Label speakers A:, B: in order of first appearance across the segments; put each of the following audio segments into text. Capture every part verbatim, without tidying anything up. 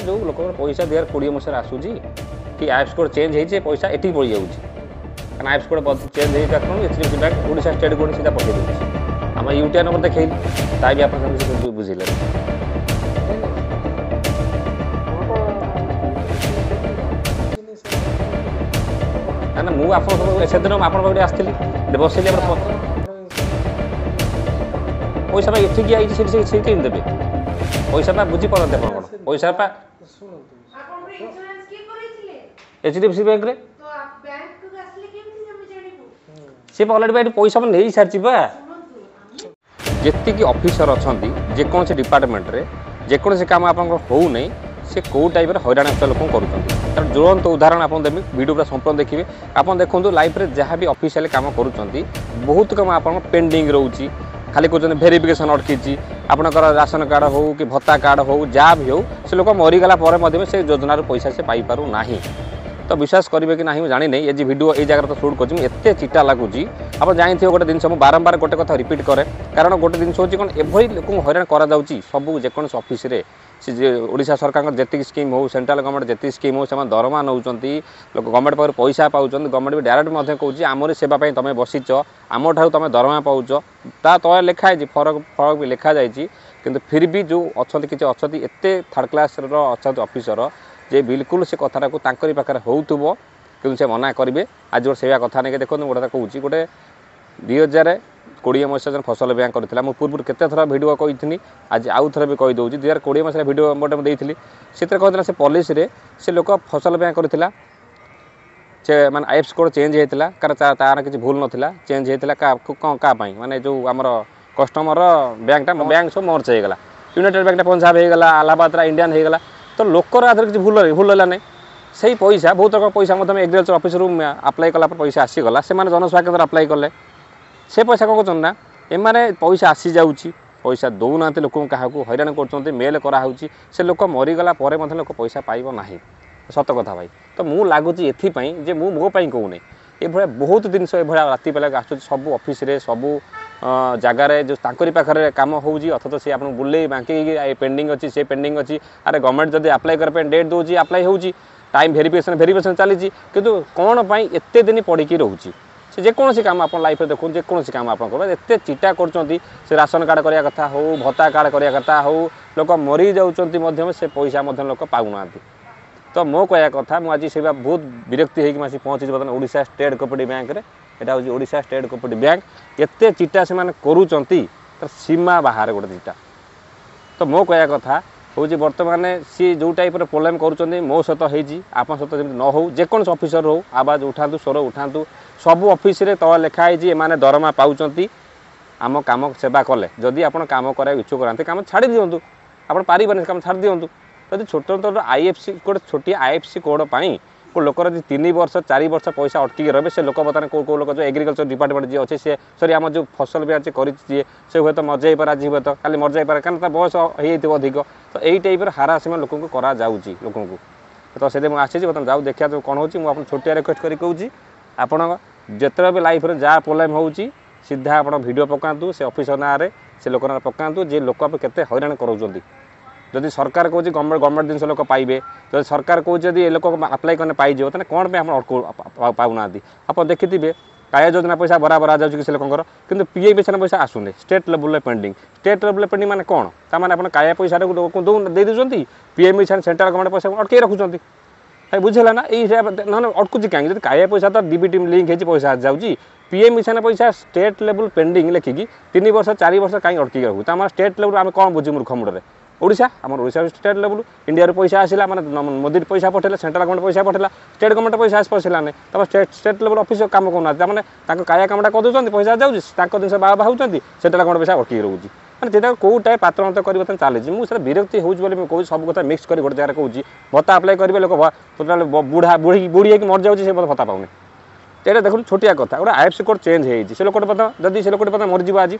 A: ଯେଉଁ ଲୋକଙ୍କର ପଇସା ଦୁଇ ହଜାର କୋଡ଼ିଏ ମସିହାରେ ଆସୁଛି କି ଆଇଏଫ୍ଏସସି କୋଡ଼ ଚେଞ୍ଜ ହେଇଛି, ପଇସା ଏଠିକି ପଳେଇଯାଉଛି। କାରଣ ଆଇଏଫ୍ଏସସି କୋଡ଼ ଚେଞ୍ଜ ହେଇଥିବା କାରଣରୁ H D F C bank Odisha state code ସିଧା ପଠେଇ ଦେଉଛି। ଆମ ୟୁଟିଆର୍ ନମ୍ବର ଦେଖେଇଲି, ତା ବି ଆପଣ କିଛି ବୁଝିଲେ। ନା ନା, ମୁଁ ଆପଣ ସେଦିନ ଆପଣଙ୍କ ପାଖରେ ଆସିଥିଲି, ବସିଲି, ଆପଣ ପଇସା ପାଇଁ ଏଠିକି ଆଇଛି, ସେଠି ସେଠି କେମିତି ଦେବେ ପଇସା ପା? ବୁଝିପାରନ୍ତି ଆପଣ କ'ଣ ପଇସା ପା ଏଚ୍ ଡି ଏଫ୍ ସି ବ୍ୟାଙ୍କରେ ସେ ଅଲରେଡ଼ି ଏଠି ପଇସା ନେଇ ସାରିଛି ପା। ଯେତିକି ଅଫିସର ଅଛନ୍ତି ଯେକୌଣସି ଡିପାର୍ଟମେଣ୍ଟରେ, ଯେକୌଣସି କାମ ଆପଣଙ୍କର ହେଉନାହିଁ, ସେ କେଉଁ ଟାଇପ୍ର ହଇରାଣ ହେଉଥିବା ଲୋକଙ୍କୁ କରୁଛନ୍ତି, ତାର ଜ୍ୱଳନ୍ତ ଉଦାହରଣ ଆପଣ ଦେବି। ଭିଡ଼ିଓ ପୁରା ସମ୍ପୂର୍ଣ୍ଣ ଦେଖିବେ। ଆପଣ ଦେଖନ୍ତୁ, ଲାଇଫ୍ରେ ଯାହା ବି ଅଫିସିଆଲି କାମ କରୁଛନ୍ତି, ବହୁତ କାମ ଆପଣଙ୍କ ପେଣ୍ଡିଂ ରହୁଛି। ଖାଲି କହୁଛନ୍ତି ଭେରିଫିକେସନ୍ ଅଟକିଛି। ଆପଣଙ୍କର ରାସନ କାର୍ଡ଼ ହେଉ କି ଭତ୍ତା କାର୍ଡ଼ ହେଉ, ଯାହା ବି ହେଉ, ସେ ଲୋକ ମରିଗଲା ପରେ ମଧ୍ୟ ସେ ଯୋଜନାରୁ ପଇସା ସେ ପାଇପାରୁନାହିଁ। ତ ବିଶ୍ୱାସ କରିବେ କି ନାହିଁ ମୁଁ ଜାଣିନି, ଏ ଯେ ଭିଡ଼ିଓ ଏଇ ଜାଗାରେ ତ ସୁଟ୍ କରୁଛି, ମୁଁ ଏତେ ଚିଟା ଲାଗୁଛି। ଆପଣ ଜାଣିଥିବେ ଗୋଟେ ଜିନିଷ, ମୁଁ ବାରମ୍ବାର ଗୋଟେ କଥା ରିପିଟ୍ କରେ, କାରଣ ଗୋଟେ ଜିନିଷ ହେଉଛି କ'ଣ, ଏଭଳି ଲୋକଙ୍କୁ ହଇରାଣ କରାଯାଉଛି ସବୁ ଯେକୌଣସି ଅଫିସରେ। ସେ ଯେ ଓଡ଼ିଶା ସରକାରଙ୍କର ଯେତିକି ସ୍କିମ୍ ହେଉ, ସେଣ୍ଟ୍ରାଲ ଗଭର୍ଣ୍ଣମେଣ୍ଟ ଯେତିକି ସ୍କିମ୍ ହେଉ, ସେମାନେ ଦରମା ନେଉଛନ୍ତି, ଲୋକ ଗଭର୍ଣ୍ଣମେଣ୍ଟ ପାଖରୁ ପଇସା ପାଉଛନ୍ତି। ଗଭର୍ଣ୍ଣମେଣ୍ଟ ବି ଡାଇରେକ୍ଟ ମଧ୍ୟ କହୁଛି, ଆମରି ସେବା ପାଇଁ ତୁମେ ବସିଛ, ଆମଠାରୁ ତୁମେ ଦରମା ପାଉଛ। ତା ତଳେ ଲେଖା ହେଇଛି, ଫରକ ଫରକ ବି ଲେଖାଯାଇଛି। କିନ୍ତୁ ଫିର୍ ବି ଯେଉଁ ଅଛନ୍ତି, କିଛି ଅଛନ୍ତି ଏତେ ଥାର୍ଡ଼ କ୍ଲାସ୍ର ଅଛନ୍ତି ଅଫିସର ଯେ ବିଲକୁଲ ସେ କଥାଟାକୁ ତାଙ୍କରି ପାଖରେ ହେଉଥିବ, କିନ୍ତୁ ସେ ମନା କରିବେ। ଆଜି ଗୋଟେ ସେଇଆ କଥା ନେଇକି ଦେଖନ୍ତୁ, ଗୋଟେ କଥା କହୁଛି। ଗୋଟେ ଦୁଇ ହଜାର କୋଡ଼ିଏ ମସିହା ଜଣେ ଫସଲ ବ୍ୟାଙ୍କ କରିଥିଲା। ମୁଁ ପୂର୍ବରୁ କେତେ ଥର ଭିଡ଼ିଓ କହିଥିଲି, ଆଜି ଆଉ ଥରେ ବି କହିଦେଉଛି। ଦୁଇ ହଜାର କୋଡ଼ିଏ ମସିହାରେ ଭିଡ଼ିଓ ଗୋଟେ ମୁଁ ଦେଇଥିଲି, ସେଥିରେ କହିଥିଲା ସେ ପଲିସିରେ ସେ ଲୋକ ଫସଲ ବ୍ୟାଙ୍କ କରିଥିଲା, ସେ ମାନେ ଆଇଏଫ୍ଏସସି କୋଡ଼ ଚେଞ୍ଜ ହେଇଥିଲା। କାରଣ ତାର କିଛି ଭୁଲ ନଥିଲା, ଚେଞ୍ଜ ହେଇଥିଲା। କ'ଣ କାହା ପାଇଁ? ମାନେ ଯେଉଁ ଆମର କଷ୍ଟମର ବ୍ୟାଙ୍କଟା, ବ୍ୟାଙ୍କ ସବୁ ମର୍ଜ ହେଇଗଲା। ୟୁନାଇଟେଡ଼ ବ୍ୟାଙ୍କଟା ପଞ୍ଜାବ ହେଇଗଲା, ଆହ୍ଲାବାଦର ଇଣ୍ଡିଆନ୍ ହେଇଗଲା। ତ ଲୋକର ଆଧାରେ କିଛି ଭୁଲ ଭୁଲ ହେଲା ନାହିଁ। ସେଇ ପଇସା, ବହୁତ ରକମ ପଇସା ମଧ୍ୟ ଏଗ୍ରିକଲଚର ଅଫିସରୁ ଆପ୍ଲାଏ କଲା ପରେ ପଇସା ଆସିଗଲା। ସେମାନେ ଜନସେବା କେନ୍ଦ୍ର ଆପ୍ଲାଏ କଲେ, ସେ ପଇସା କ'ଣ କରୁଛନ୍ତି ନା, ଏମାନେ ପଇସା ଆସିଯାଉଛି, ପଇସା ଦେଉନାହାନ୍ତି ଲୋକଙ୍କୁ, କାହାକୁ ହଇରାଣ କରୁଛନ୍ତି। ମେଲ୍ କରାହେଉଛି, ସେ ଲୋକ ମରିଗଲା ପରେ ମଧ୍ୟ ଲୋକ ପଇସା ପାଇବ ନାହିଁ। ସତ କଥା ଭାଇ। ତ ମୁଁ ଲାଗୁଛି ଏଥିପାଇଁ ଯେ ମୁଁ ମୋ ପାଇଁ କହୁନି, ଏଭଳିଆ ବହୁତ ଜିନିଷ ଏଭଳିଆ ରାତି ବେଳାକୁ ଆସୁଛି ସବୁ ଅଫିସରେ, ସବୁ ଜାଗାରେ, ଯେଉଁ ତାଙ୍କରି ପାଖରେ କାମ ହେଉଛି, ଅଥଚ ସେ ଆପଣଙ୍କୁ ବୁଲେଇ ବାଙ୍କେଇକି ଏ ପେଣ୍ଡିଂ ଅଛି, ସେ ପେଣ୍ଡିଂ ଅଛି। ଆରେ ଗଭର୍ଣ୍ଣମେଣ୍ଟ ଯଦି ଆପ୍ଲାଏ କରିବା ପାଇଁ ଡେଟ୍ ଦେଉଛି, ଆପ୍ଲାଏ ହେଉଛି, ଟାଇମ୍ ଭେରିଫିକେସନ୍ ଭେରିଫିକେସନ୍ ଚାଲିଛି, କିନ୍ତୁ କ'ଣ ପାଇଁ ଏତେ ଦିନ ପଡ଼ିକି ରହୁଛି? ସେ ଯେକୌଣସି କାମ ଆପଣ ଲାଇଫ୍ରେ ଦେଖନ୍ତୁ, ଯେକୌଣସି କାମ ଆପଣ କରିବେ, ଏତେ ଚିଟା କରୁଛନ୍ତି। ସେ ରାସନ କାର୍ଡ଼ କରିବା କଥା ହେଉ, ଭତ୍ତା କାର୍ଡ଼ କରିବା କଥା ହେଉ, ଲୋକ ମରିଯାଉଛନ୍ତି ମଧ୍ୟ ସେ ପଇସା ମଧ୍ୟ ଲୋକ ପାଉନାହାନ୍ତି। ତ ମୋ କହିବା କଥା, ମୁଁ ଆଜି ସେଇବା ବହୁତ ବିରକ୍ତି ହେଇକି ମୁଁ ଆସି ପହଞ୍ଚିଛି ବର୍ତ୍ତମାନ ଓଡ଼ିଶା ଷ୍ଟେଟ୍ କୋପରେଟିଭ୍ ବ୍ୟାଙ୍କରେ। ଏଇଟା ହେଉଛି ଓଡ଼ିଶା ଷ୍ଟେଟ୍ କୋପରେଟିଭ୍ ବ୍ୟାଙ୍କ। ଏତେ ଚିଟା ସେମାନେ କରୁଛନ୍ତି, ତାର ସୀମା ବାହାରେ ଗୋଟେ ଚିଟା। ତ ମୋ କହିବା କଥା ହେଉଛି, ବର୍ତ୍ତମାନ ସିଏ ଯେଉଁ ଟାଇପ୍ର ପ୍ରୋବ୍ଲେମ୍ କରୁଛନ୍ତି, ମୋ ସହିତ ହେଇଛି, ଆପଣଙ୍କ ସହିତ ଯେମିତି ନ ହେଉ। ଯେକୌଣସି ଅଫିସର ହେଉ, ଆବାଜ ଉଠାନ୍ତୁ, ସ୍ୱର ଉଠାନ୍ତୁ। ସବୁ ଅଫିସରେ ତଳେ ଲେଖା ହେଇଛି, ଏମାନେ ଦରମା ପାଉଛନ୍ତି ଆମ କାମ ସେବା କଲେ। ଯଦି ଆପଣ କାମ କରିବାକୁ ଇଚ୍ଛୁକ ନାହାନ୍ତି, କାମ ଛାଡ଼ି ଦିଅନ୍ତୁ। ଆପଣ ପାରିବେନି, କାମ ଛାଡ଼ି ଦିଅନ୍ତୁ। ଯଦି ଛୋଟ ଛୋଟ I F C ଗୋଟେ ଛୋଟିଆ I F C code ପାଇଁ କେଉଁ ଲୋକର ଯଦି ତିନି ବର୍ଷ ଚାରି ବର୍ଷ ପଇସା ଅଟକିକି ରହିବେ, ସେ ଲୋକ ବର୍ତ୍ତମାନ କେଉଁ କେଉଁ ଲୋକ, ଯେଉଁ ଏଗ୍ରିକଲଚର ଡିପାର୍ଟମେଣ୍ଟ ଯିଏ ଅଛି, ସେ ସରି ଆମ ଯେଉଁ ଫସଲ ବୀମା କରିଛି ଯିଏ, ସେ ହୁଏତ ମରିଯାଇପାରେ ଆଜି, ହୁଏତ କାଲି ମରିଯାଇପାରେ, କାରଣ ତା ବୟସ ହେଇଯାଇଥିବ ଅଧିକ। ତ ଏଇ ଟାଇପ୍ର ହାରାସମେଣ୍ଟ ଲୋକଙ୍କୁ କରାଯାଉଛି ଲୋକଙ୍କୁ। ତ ସେଥିପାଇଁ ମୁଁ ଆସିଛି ବର୍ତ୍ତମାନ, ଯାଉ ଦେଖିବା କ'ଣ ହେଉଛି। ମୁଁ ଆପଣ ଛୋଟିଆ ରିକ୍ୱେଷ୍ଟ କରି କହୁଛି, ଆପଣ ଯେତେବେଳେ ବି ଲାଇଫ୍ରେ ଯାହା ପ୍ରୋବ୍ଲେମ୍ ହେଉଛି, ସିଧା ଆପଣ ଭିଡ଼ିଓ ପକାନ୍ତୁ, ସେ ଅଫିସର ନାଁରେ, ସେ ଲୋକ ନାଁରେ ପକାନ୍ତୁ, ଯେ ଲୋକ କେତେ ହଇରାଣ କରାଉଛନ୍ତି। ଯଦି ସରକାର କହୁଛି ଗଭର୍ଣ୍ଣମେଣ୍ଟ ଗଭର୍ଣ୍ଣମେଣ୍ଟ ଜିନିଷ ଲୋକ ପାଇବେ, ଯଦି ସରକାର କହୁଛି ଯଦି ଏ ଲୋକ ଆପ୍ଲାଏ କଲେ ପାଇଯିବ, ତାହେଲେ କ'ଣ ପାଇଁ ଆପଣ ପାଉନାହାନ୍ତି? ଆପଣ ଦେଖିଥିବେ, କାଳିଆ ଯୋଜନା ପଇସା ବରାବର ଯାଉଛି କିଛି ଲୋକଙ୍କର, କିନ୍ତୁ ପି ଏମ୍ କିଷାନ ପଇସା ଆସୁନି, ଷ୍ଟେଟ୍ ଲେବୁଲ୍ରେ ପେଣ୍ଡିଂ। ଷ୍ଟେଟ୍ ଲେବୁଲ୍ରେ ପେଣ୍ଡିଂ ମାନେ କ'ଣ? ତାମାନେ ଆପଣ କାଳିଆ ପଇସାଟାକୁ ଲୋକଙ୍କୁ ଦେଉ ଦେଇ ଦେଉଛନ୍ତି, ପି ଏମ୍ କିଷାନ ସେଣ୍ଟ୍ରାଲ ଗଭର୍ଣ୍ଣମେଣ୍ଟ ପଇସା ଅଟକେଇ ରଖୁଛନ୍ତି। ଭାଇ, ବୁଝିଲା ନା? ଏଇ ନହେଲେ ଅଟକୁଛି କାହିଁକି? ଯଦି କାଳିଆ ପଇସା ତ ଡିବିଟି ଲିଙ୍କ୍ ହେଇଛି, ପଇସା ଯାଉଛି, ପି ଏମ୍ କିଷାନ ପଇସା ଷ୍ଟେଟ୍ ଲେବୁଲ୍ ପେଣ୍ଡିଂ ଲେଖିକି ତିନି ବର୍ଷ ଚାରି ବର୍ଷ କାହିଁକି ଅଟକିକି ରଖୁ? ତାମାନେ ଷ୍ଟେଟ୍ ଲେବୁଲ୍ ଆମେ କ'ଣ ବୁଝୁ ମୂର୍ଖ ମୁଣ୍ଡରେ? ଓଡ଼ିଶା, ଆମର ଓଡ଼ିଶା ଷ୍ଟେଟ୍ ଲେବୁଲ୍। ଇଣ୍ଡିଆରୁ ପଇସା ଆସିଲା, ମାନେ ମୋଦି ପଇସା ପଠେଇଲା, ସେଣ୍ଟ୍ରାଲ ଗଭର୍ଣ୍ଣମେଣ୍ଟ ପଇସା ପଠେଇଲା, ଷ୍ଟେଟ୍ ଗଭର୍ଣ୍ଣମେଣ୍ଟ ପଇସା ଆସି ପଶିଲା ନାହିଁ। ତାପରେ ଷ୍ଟେଟ୍ ଷ୍ଟେଟ୍ ଲେବୁଲ୍ ଅଫିସ କାମ କରୁନାହାନ୍ତି। ତାମାନେ ତାଙ୍କ କାଳିଆ କାମଟା କରିଦେଉଛନ୍ତି, ପଇସା ଯାଉଛି, ତାଙ୍କ ଜିନିଷ ବାହା ହେଉଛନ୍ତି, ସେଣ୍ଟ୍ରାଲ ଗଭର୍ଣ୍ଣମେଣ୍ଟ ପଇସା ଅଟକିକି ରହୁଛି। ମାନେ ସେଟା କେଉଁ ଟାଇପ୍ ପାତ୍ର ଅନ୍ତ କରିବ ଚାଲିଛି? ମୁଁ ସେଟା ବିରକ୍ତି ହେଉଛି ବୋଲି ମୁଁ କହୁଛି, ସବୁ କଥା ମିକ୍ସ କରି ଗୋଟେ ଜାଗାରେ କହୁଛି। ଭତ୍ତା ଆପ୍ଲାଏ କରିବେ, ଲୋକ ଟୋଟାଲ ବୁଢ଼ା ବୁଢ଼ୀ ବୁଢ଼ୀ ହେଇକି ମରିଯାଉଛି, ସେ ଭତ୍ତା ପାଉନି। ଏଇଟା ଦେଖନ୍ତୁ, ଛୋଟିଆ କଥା, ଗୋଟେ I F C code change ହେଇଛି। ସେ ଲୋକଟେ ବର୍ତ୍ତମାନ ଯଦି ସେ ଲୋକଟେ ବର୍ତ୍ତମାନ ମରିଯିବ ଆଜି,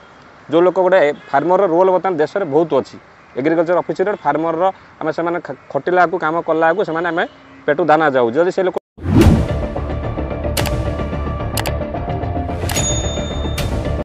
A: ଯେଉଁ ଲୋକ ଗୋଟେ ଫାର୍ମରର ରୋଲ୍ ବର୍ତ୍ତମାନ ଦେଶରେ ବହୁତ ଅଛି, ଏଗ୍ରିକଲଚର ଅଫିସର ଫାର୍ମରର, ଆମେ ସେମାନେ ଖଟିଲାକୁ କାମ କଲାକୁ ସେମାନେ ଆମେ ପେଟୁ ଦାନା ଯାଉଛି। ଯଦି ସେ ଲୋକ